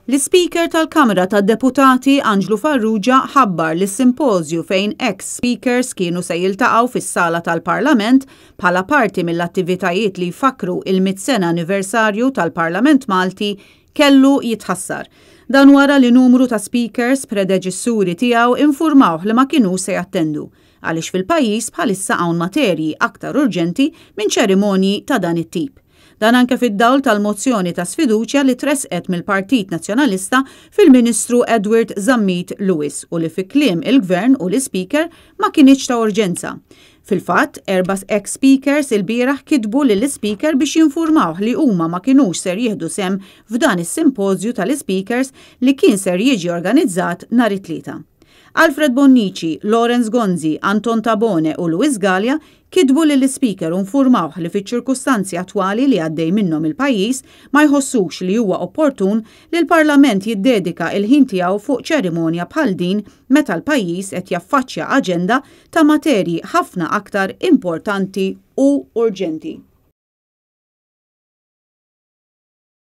L-Ispeaker tal-Kamra tad-Deputati Anġlu Farrugia ħabbar li s-simpożju fejn eks Speakers kienu se jiltaqgħu fis-sala tal-Parlament bħala parti mill-attivitajiet li jfakkru il-100 sena anniversarju tal-Parlament Malti kellu jitħassar. Dan wara li numru ta' speakers predeċessuri tiegħu infurmawh li ma kinux se jattendu għaliex fil-pajjiż bħalissa hawn materji aktar urġenti minn ċerimonji ta' dan it-tip. Dan anke fid-dawl tal-mozzjoni ta' sfiduċja li tresqet mill-Partit Nazzjonalista fil-Ministru Edward Zammit Lewis u li fi kliem il-Gvern u l-Ispeaker ma kinitx ta' urġenza. Fil-fatt, erba' ex-speakers ilbieraħ kitbu lill-Ispeaker biex jinfurmawh li huma ma kinux ser jieħdu sehem f'dan is-simpożju tal-Ispeakers li kien ser jiġi organizzat nhar it-Tlieta. Alfred Bonnici, Lawrence Gonzi, Anton Tabone u Louis Galea kitbu lill-Ispeaker u nfurmawh li fiċ-ċirkustanzi attwali li għaddej minnhom il-pajjiż ma jħossux li huwa opportun li l-Parlament jiddedika il-ħin tiegħu fuq ċerimonja bħal din meta l-pajjiż qed jaffaċċja aġenda ta' materji ħafna aktar importanti u urġenti.